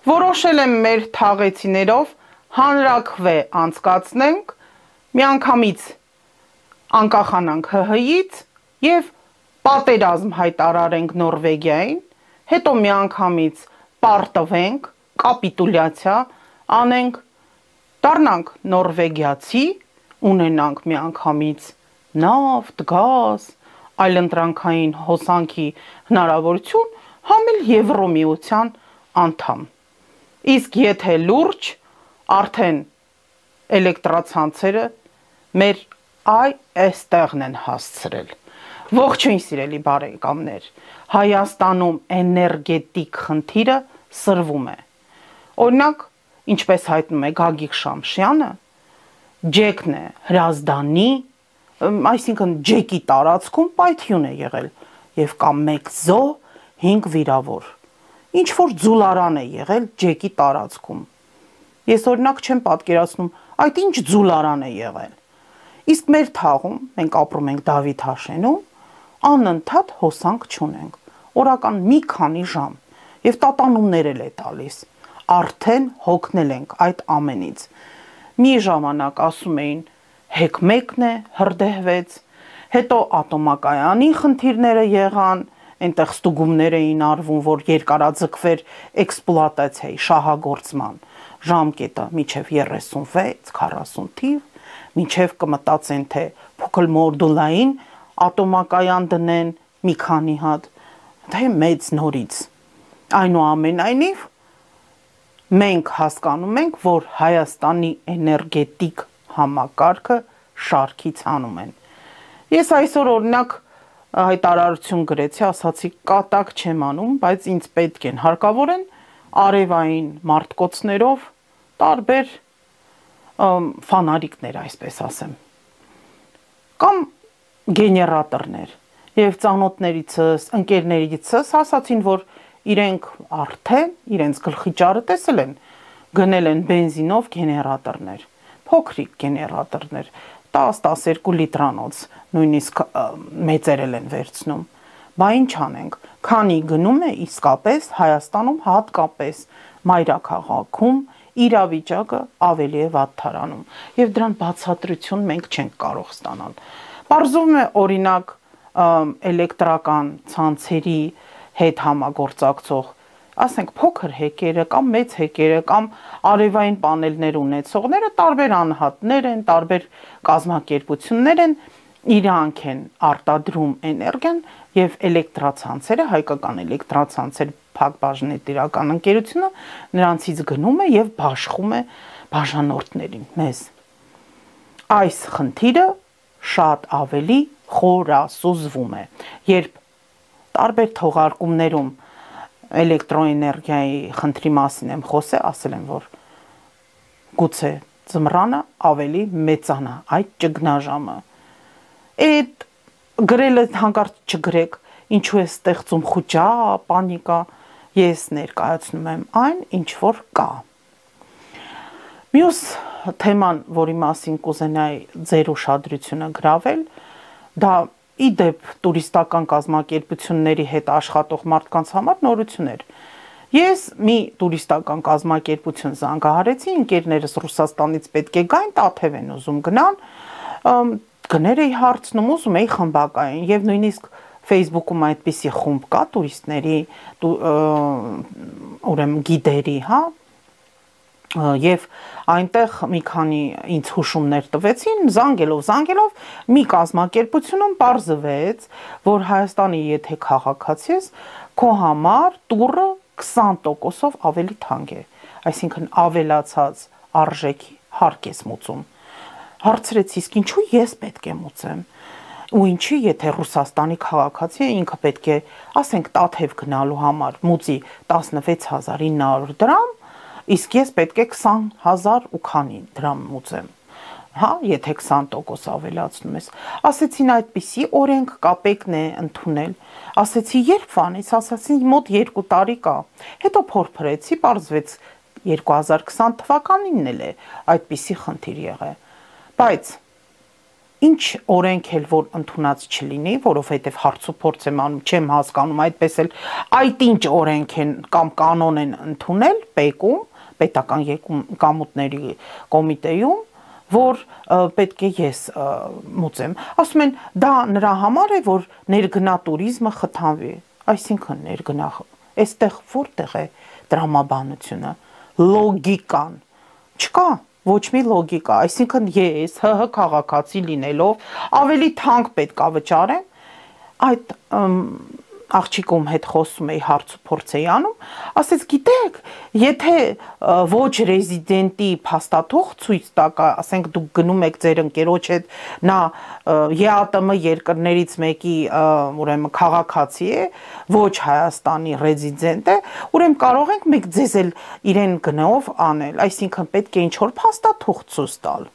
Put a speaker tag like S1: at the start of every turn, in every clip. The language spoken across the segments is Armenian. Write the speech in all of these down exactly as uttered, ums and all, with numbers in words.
S1: որոշել եմ մեր թաղեցիներով հանրաքվե անցկացնենք, միանգամից անկախանանք ՀՀ-ից և պատերազմ հայտարարենք Նորվեգիային, հետո միանգամից պարտվենք, կապիտուլյացիա անենք, դառնանք նորվեգիացի, ունենանք միանգամից նավթ, գազ, այլընտրանքային հոսանքի հնարավորություն, համ էլ Եվրոմիության անդամ։ Իսկ եթե լուրջ, արդեն էլեկտրացանցերը մեր այ էստեղն են հասցրել։ Ողջույն սիրելի բարեկամներ, Հայաստանում էներգետիկ խնդիրը սրվում է։ Օրինակ, ինչպես հայտնում է Գագիկ Շամշյանը, ջեկն է Հրազդանի, այսինքն ջեկի տարածքում պայթյուն է եղել և կամ մեկ զո, հինգ վիրավոր։ Ինչ որ ձուլարան է եղել ջեկի տարածքում։ Ես օրինակ չեմ պատկերացնում, այդ ինչ ձուլարան է եղել։ Իսկ մեր թաղում, մենք ապրում ենք Դավիթ Հաշենում, անընդհատ հոսանք չունենք, օրական մի քանի ժամ, և տատանումներ էլ է տալիս, արդեն հոգնել ենք այդ ամենից։ Մի ժամանակ ասում էին հեկ մեկն է հրդեհվեց, հետո ատոմակայանի խնդիրները եղան, այնտեղ ստուգումներ էին արվում, որ երկարաձգվեր էքսպլուատացիայի շահագործման ժամկետը մինչև երեսունվեց քառասուն թիվ, մինչև կմտածեն, թե փոքր մոդուլային ատոմակայան դնեն մի քանի հատ, թե մեծ նորից։ Այնուամենայնիվ, մենք հասկանում ենք, որ Հայաստանի էներգետիկ համակարգը շարքից հանում են։ Ես այսօր օրինակ հայտարարություն գրեցի, ասացի կատակ չեմ անում, բայց ինձ պետք են, հարկավոր են արևային մարտկոցներով տարբեր ֆանարիկներ, այսպես ասեմ, կամ գեներատորներ, և ծանոթներիցս, ընկերներիցս ասացին, որ իրենք արդեն, իրենց գլխի ճարը տեսել են, գնել են բենզինով գեներատորներ, փոքրիկ գեներատորներ, տաս տասներկու լիտրանոց, նույնիսկ մեծերել են վերցնում, բա ինչ անենք, քանի գնում է իսկապես Հայաստանում հատկապես մայրաքաղաքում իրավիճակը ավելի է վատթարանում, և դրան բացատրություն մենք չենք կարող ստանալ։ Պարզվում է օրինակ էլեկտրական ցանցերի հետ համագործակցող, ասենք փոքր հեկերը կամ մեծ հեկերը կամ արևային պանելներ ունեցողները տարբեր անհատներ են, տարբեր կազմակերպություններ են, իրանք են արտադրում էներգիան և էլեկտրացանցերը, հայկական էլեկտրացանցեր փակ-բաժնետիրական ընկերությունը նրանցից գնում է և բաշխում է բաժանորդներին, մեզ։ Այս խնդիրը շատ ավելի խորասուզվում է, երբ տարբեր թողարկումներում էլեկտրոէներգիայի խնդրի մասին եմ խոսել, ասել եմ, որ գուցե ձմռանը ավելի մեծանա այդ ճգնաժամը։ Այդ գրելը հանկարծ չգրեք, ինչու է ստեղծում խուճա, պանիկա, ես ներկայացնում եմ այն, ինչ որ կա։ Մյուս թեման, որի մասին կուզենայի ձեր ուշադրությունը գրավել, դա ի դեպ տուրիստական կազմակերպությունների հետ աշխատող մարդկանց համար նորություն էր։ Ես մի տուրիստական կազմակերպություն զանգահարեցի, ընկերներս Ռուսաստանից պետք է գային, Տաթև են ուզում գնան, գներ էի հարցնում, ուզում էի խմբակային, և նույնիսկ Facebook-ում այդպիսի խումբ կա տուրիստների, ուրեմն գիդերի, հա, և այնտեղ մի քանի ինձ հուշումներ տվեցին, զանգելով, զանգելով, մի կազմակերպությունում պարզվեց, որ Հայաստանի եթե քաղաքացի ես, քո համար տուրը քսան տոկոսով ավելի թանկ է, այսինքն ավելացած արժեքի հարկ ես մուծում։ Հարցրեց, իսկ ինչու ես պետք է մուծեմ, ու ինչի, եթե Ռուսաստանի քաղաքացի է, ինքը պետք է, ասենք Տաթև գնալու համար մուծի տասնվեց հազար ինը հարյուր դրամ, իսկ ես պետք է քսան հազար ու քանի դրամ մուծեմ, հա, եթե քսան տոկոս ավելացնում ես։ Ասեցին այդպիսի օրենք կա, պետք է ընդունել։ Ասեցի երբ վանից, ասացին մոտ երկու տարի կա։ Հետո փորփրեցի, պարզվեց երկու հազար քսան թվականինն էլ է այդպիսի խնդիր եղել։ Բայց ինչ օրենք էլ որ ընդունած չլինի, որովհետև հարց ու փորձ եմ անում, չեմ հասկանում այդպես էլ այդ ինչ օրենք են կամ կանոն են ընդունել ՊԵԿ-ում, պետական եկամուտների կոմիտեում, որ պետք է ես մուծեմ։ Ասում են, դա նրա համար է, որ ներգնա туриզմը խթանվի, այսինքն ներգնա, այստեղ որտեղ է տրամաբանությունը, լոգիկան, չկա ոչ մի լոգիկա, այսինքն ես ՀՀ քաղաքացի լինելով ավելի թանկ պետք է վճարեմ, այդ աղջիկում հետ խոսում էի հարց ու փորձ էի անում, ասեց գիտեք, եթե ոչ ռեզիդենտի փաստաթուղթ ցույց տաք, ասենք դուք գնում եք ձեր ընկերոջ հետ, նա ԵԱՏՄ երկրներից մեկի ուրեմն քաղաքացի է, ոչ Հայաստանի ռեզիդենտ է, ուրեմն կարող ենք մենք ձեզ էլ իրեն գնով անել, այսինքն պետք է ինչ-որ փաստաթուղթ ցույց տալ։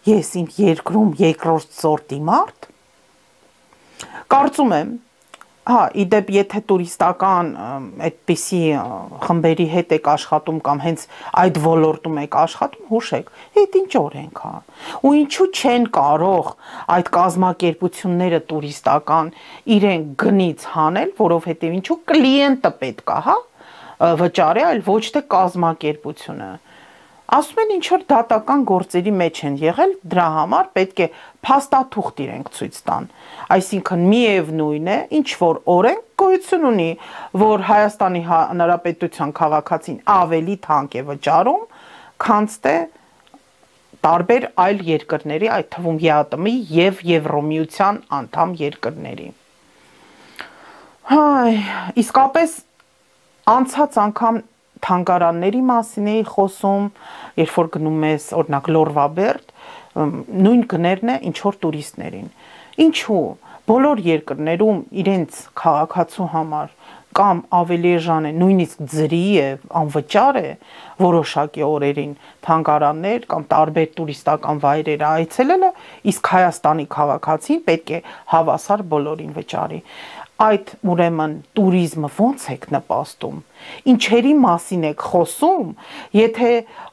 S1: Ես իմ երկրում երկրորդ սորտի մարդ Կարծում եմ, հա, իդեպ եթե տուրիստական այդպիսի խմբերի հետ եք աշխատում կամ հենց այդ ոլորտում եք աշխատում, հուշեք, այդ ինչ օրենք է։ Ու ինչու չեն կարող այդ կազմակերպությունները տուրիստական իրեն գնից հանել, որովհետև ինչու կլիենտը պետք է, հա, վճարի, այլ ոչ թե կազմակերպությունը։ Ասում են ինչ որ դատական գործերի մեջ են եղել, դրա համար պետք է փաստաթուղթ իրենք ցույց տան։ Այսինքն միևնույն է, ինչ որ օրենք գոյություն ունի, որ Հայաստանի Հանրապետության քաղաքացին ավելի թանկ է վճարում, քան թե տարբեր այլ երկրների, այդ թվում ԵԱՏՄ-ի եւ Եվրոմիության անդամ երկրների։ Հայ, իսկապես անցած անգամ թանգարանների մասին էի խոսում, երբ որ գնում ես օրինակ Լորվաբերդ, նույն գներն է ինչ որ տուրիստներին։ Ինչու բոլոր երկրներում իրենց քաղաքացու համար կամ ավելի էժան է, նույնիսկ ձրի է, անվճար է որոշակի օրերին թանգարաններ կամ տարբեր տուրիստական վայրեր այցելելը, իսկ Հայաստանի քաղաքացին պետք է հավասար բոլորին վճարի։ Այդ ուրեմն туриզմը ոնց եք նպաստում, ինչերի մասին եք խոսում, եթե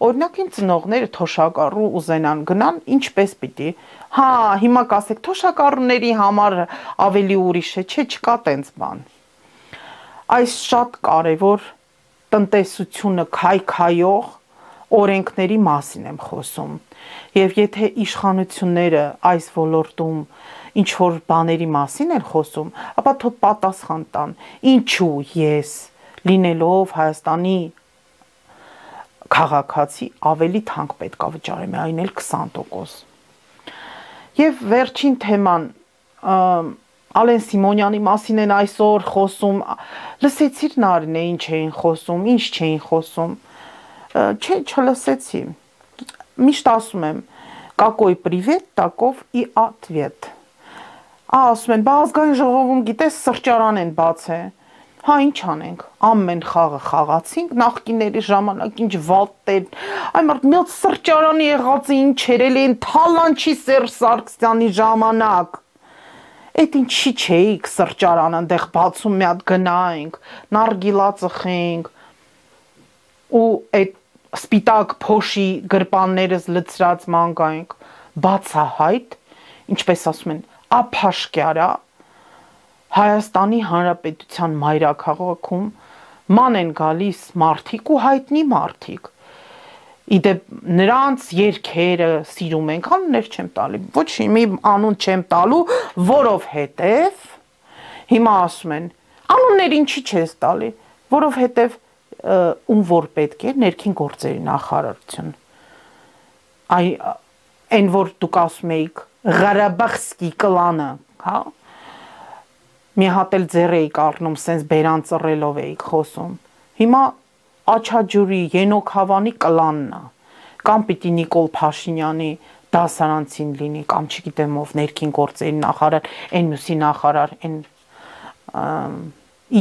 S1: օրինակ իմ ծնողները թոշակառու ուզենան գնան, ինչպես պիտի, հա, հիմա կասեք թոշակառուների համար ավելի ուրիշ է, չէ, չկա տենց բան։ Այս շատ կարևոր տնտեսությունը քայքայող օրենքների մասին եմ խոսում, եւ եթե իշխանությունները այս ոլորտում ինչ որ բաների մասին են խոսում, ապա թող պատասխան տան, ինչու ես լինելով Հայաստանի քաղաքացի ավելի թանկ պետք է վճարեմ, այն էլ քսան տոկոս։ Եվ վերջին թեման Ալեն Սիմոնյանի մասին են այսօր խոսում, լսեցիր Նարինե ինչ էին խոսում, ինչ չէին խոսում, չէ, չլսեցի, միշտ ասում եմ, какой привет, таков и ответ։ Ասում են, բա ազգային ժողովում գիտես սրճարան են բացել, հա ինչ անենք, ամեն խաղը խաղացինք, նախկիների ժամանակ ինչ վատեր, այ մարդ մի հատ սրճարանի եղածը ինչեր են, Թալանչի Սերժ Սարգսյանի ժամանակ, այդ ինչի չէիք սրճարան այնտեղ բացում մի հատ գնայինք, նարգիլա ծխենք, ու այդ սպիտակ փոշի գրպաններս լցրած մանգայինք, բացահայտ, ինչպես ասում են, ափաշկյարա Հայաստանի Հանրապետության մայրաքաղաքում ման են գալիս մարդիկ ու հայտնի մարդիկ։ Իդեպ նրանց երգերը սիրում ենք, անուններ չեմ տալի, ոչ մի անուն չեմ տալու, որովհետև հիմա ասում են, անուններ ինչի չես տալի, որովհետև ում որ պետք է ներքին գործերի նախարարություն։ Այ այն որ դուք ասում էիք Ղարաբաղսկի կլանը, հա, մի հատ էլ ձեռ էիք առնում, սենց բերան ծռելով էիք խոսում, հիմա Աչաջուրի Ենոք Հավանի կլանն է, կամ պիտի Նիկոլ Փաշինյանի դասարանցին լինի, կամ չգիտեմ ով ներքին գործերի նախարար, այն մյուսի նախարար, այն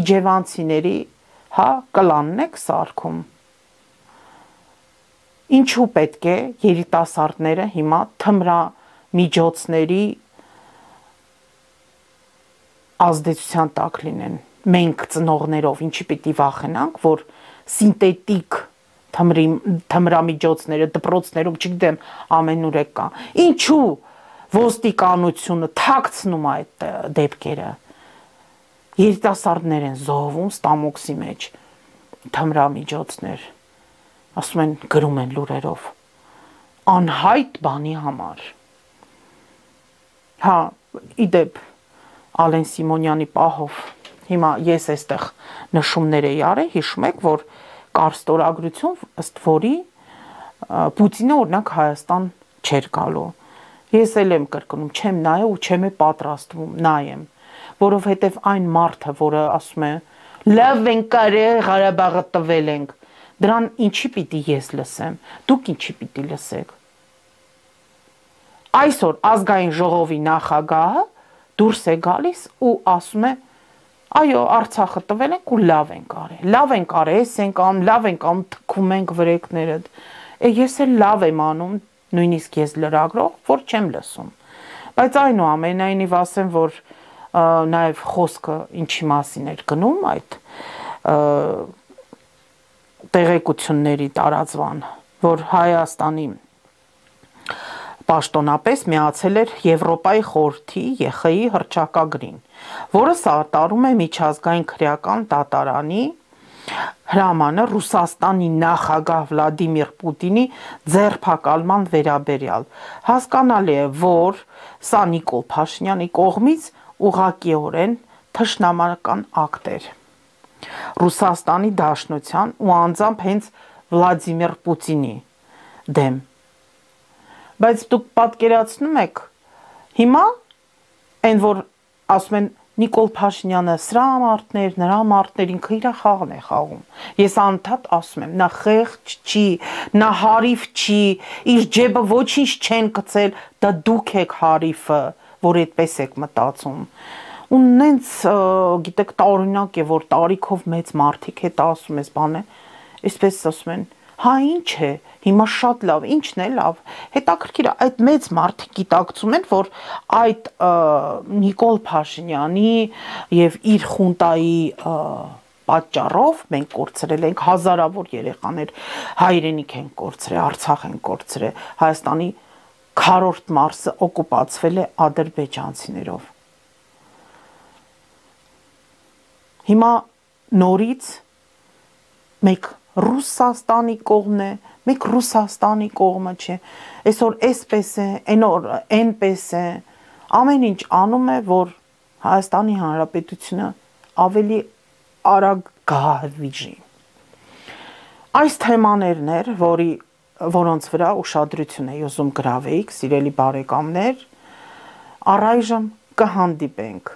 S1: իջևանցիների, հա, կլանն եք սարքում։ Ինչու պետք է երիտասարդները հիմա թմրամիջոցների ազդեցության տակ լինեն, մենք ծնողներով ինչի պիտի վախենանք, որ սինտետիկ թմրամիջոցները, դպրոցներում, չգիտեմ, ամենուր է կա։ Ինչու ոստիկանությունը թաքցնում է այդ դեպքերը։ Երիտասարդներ են զոհվում ստամոքսի մեջ, թմրամիջոցներ, ասում են գրում են լուրերով, անհայտ բանի համար։ Հա, իդեպ Ալեն Սիմոնյանի պահով, հիմա ես այստեղ նշումներ էի արել, հիշում եք, որ կար ստորագրություն, ըստ որի Պուտինը օրինակ Հայաստան չէր գալու։ Ես էլ եմ կրկնում, չեմ նայել ու չեմ պատրաստվում նայեմ, որովհետև այն մարդը, որը ասում է, լավ ենք կարել, Ղարաբաղը տվել ենք, դրան ինչի պիտի ես լսեմ, դուք ինչի պիտի լսեք։ Այսօր ազգային ժողովի նախագահը դուրս է գալիս ու ասում է, այո, Արցախը տվել ենք ու լավ ենք արել, լավ ենք արել, ես ենք անում, լավ ենք անում, թքում ենք վրեքները, ես էլ լավ եմ անում, նույնիսկ ես լրագրող, որ չեմ լսում, բայց այնուամենայնիվ ասեմ, որ նաև խոսքը ինչի մասին էր գնում այդ տեղեկությունների տարածվան, որ Հայաստանի պաշտոնապես միացել էր Եվրոպայի խորհրդի Է Խ Ի հռչակագրին, որը սատարում է միջազգային քրեական դատարանի հրամանը Ռուսաստանի նախագահ Վլադիմիր Պուտինի ձերբակալման վերաբերյալ։ Հասկանալի է, որ սա Նիկոլ Փաշինյանի կողմից ուղղակիորեն թշնամական ակտ էր Ռուսաստանի Դաշնության ու անձամբ հենց Վլադիմիր Պուտինի դեմ։ Բայց դուք պատկերացնում եք, հիմա այն որ ասում են Նիկոլ Փաշինյանը սրա մարդներ, նրա մարդներ, ինքը իր խաղն է խաղում։ Ես անդադ ասում եմ, նա խեղճ չի, նա հարիվ չի, իր ջեբը ոչինչ չեն գցել, դա դուք եք հարիվը, որ այդպես եք մտածում։ Ու նենց, գիտեք, տարօրինակ է, որ տարիքով մեծ մարդիկ հետ ասում ես բան է, այսպես ասում են, հա ինչ է, հիմա շատ լավ, ինչն է լավ, հետաքրքիր է, այդ մեծ մարդիկ գիտակցում են, որ այդ Նիկոլ Փաշինյանի և իր խունտայի պատճառով մենք կորցրել ենք հազարավոր երեխաներ, հայրենիք են կորցրել, Արցախ են կորցրել, Հայաստանի քառորդ մարզը օկուպացվել է ադրբեջանցիներով։ Հիմա նորից մեկ Ռուսաստանի կողմն է, մեկ Ռուսաստանի կողմը չէ, այսօր այսպես է, այնօր այնպես է, ամեն ինչ անում է, որ Հայաստանի Հանրապետությունը ավելի արագ գահվիժի։ Այս թեմաներն էր, որի, որոնց վրա ուշադրություն էի ուզում գրավեիք, սիրելի բարեկամներ, առայժմ կհանդիպենք։